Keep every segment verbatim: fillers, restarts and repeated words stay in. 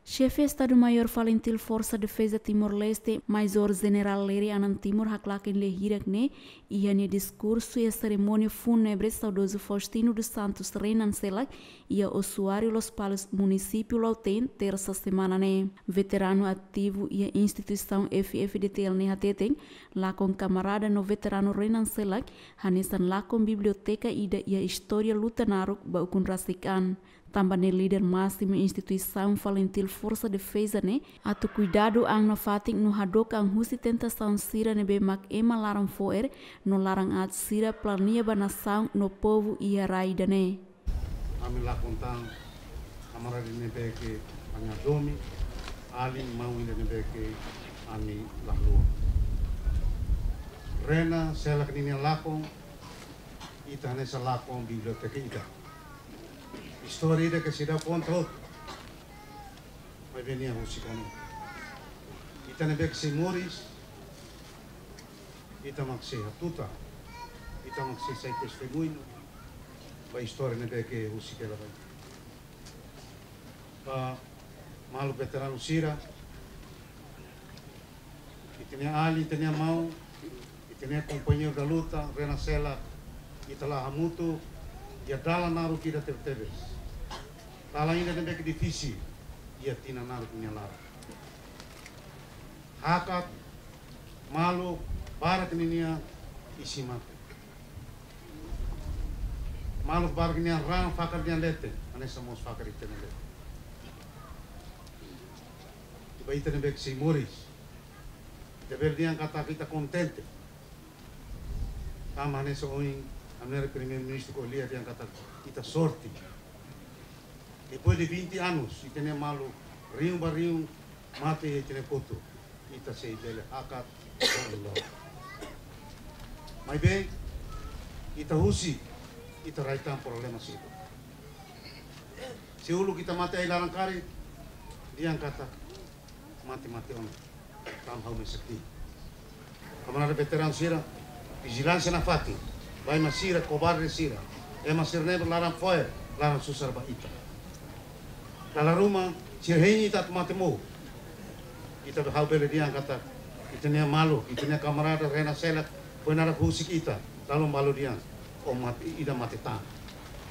Xefe Estadu-Maiór Falintil Forsa Defeza Timor-Leste, Maizór Jenerál Leri Anan Timur, haklaken lia hirak ne'e iha nia diskursu iha serimónia fúnebre saudozu Faustino dos Santos Renan Selak iha Osuáriu, Lospalos, munisípiu Lautém, tersa semana ne'e. Veteranu ativu iha instituisaun F F D T L ne'e hateten, lakon kamarada no veteranu Renan Selak hanesan lakon biblioteka ida iha istória luta naruk ba ukun rasik an. Tanba ne'e líder másimu instituisaun Falintil Forsa Defeza ne'e atu kuidadu an nafatin no hadook an husi tentasaun sira ne'ebé mak ema laran fo'er no laran aat sira planeia ba nasaun no povu iha rai ida-ne'e. Ami lakon tan kamarada ne'ebé ke ami hadomi, alin maun ida ne'ebé ke ami la haluha. Renan Selak ninia lakon, ita hanesan lakon biblioteka ida. Istória ida ke seidauk konta hotu. Maibé nia husik ona. Ita ne'ebé ke sei moris, ita mak sei hatutan, ita mak sei sai testemuñu ba istória ne'ebé ke husik hela ba ita. Ba maluk veteranu sira, ita-nia alin, ita-nia maun, ita-nia kompañeiru da luta, Renan Selak, ita la'o hamutuk iha dalan naruk ida tebetebes. Dalan ida ne'ebé ke difisil iha tinan naruk nia laran. Hakat maluk barak ninia isin-mate. Maluk barak ninia raan fakar nia leten, hanesan mós fakar ita-nia leten. Ba ita ne'ebé ke sei moris, ita bele dehan katak ita kontente. Tanba hanesan ohin ami-nia Primeiru-Ministru ko'alia dehan katak ita sorte. Depois de vinte anos, ita-nia maluk rihun ba rihun mate iha ita-nia kotuk. Ita sei bele hakat ba loloos. Maibé, ita husik, ita rai tan problema sira. Se uluk ita mate ai-laran karik, dehan katak mate, mate ona. Tanba ha'u mesak tiha. Kamarada veteranu sira, vijilánsia nafatin ba ema sira, kobarde sira. Ema sira ne'ebé laran fo'er, laran susar ba ita. Dala ruma, sira hein ita atu mate mouk. Ita, ha'u bele dehan katak ita-nia maluk, ita-nia kamarada Renan Selak, foin naran husik ita, dala ruma balu dehan, ó mate, ida mate tan.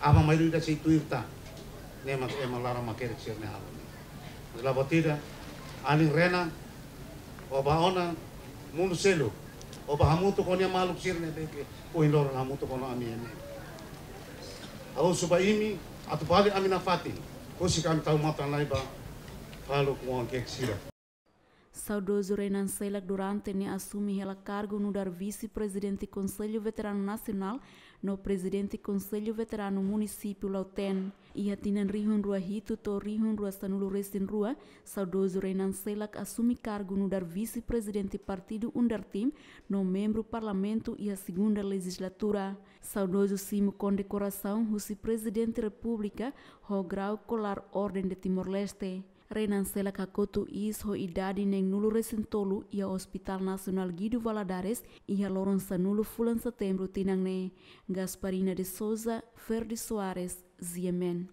Aban-bainrua ida sei tuir tan. Ne'e mak ema laran makerek sira-ne'e halo. Mas la buat ida, alin Renan, ó bá ona mundu seluk, ó bá hamutuk ho nia maluk sira ne'ebé ke ohin loron hamutuk ho ami iha ne'e. Ha'u husu ba imi, atu bali ami nafatin, husik ami tau matan lai ba faluk oan-kiak sira. Saudozu Renan Selak durante ne'e asume hela kargu nu'udar Vise-Prezidente Konsellu Veteranu Nasionál no Prezidente Konsellu Veteranu Munisípiu Lautém. Iha tinan rihun rua hitu to'o rihun rua sanulu resin rua, saudozu Renan Selak asume kargu nu'udar Vise-Prezidente Partidu UNDARTIM no membru Parlamentu iha segunda lejizlatura. Saudozu simu kondekorasaun husi Prezidente Repúblika ho grau kolar Orden de Timor-Leste. Renan Selak hakotu iis ho idade neenulu resin tolu iha Hospital Nasionál Guido Valadares iha loron sanulu fulan Setembru tinan ne'e. Gasparina de Sousa, Ferdi Soares, G M N.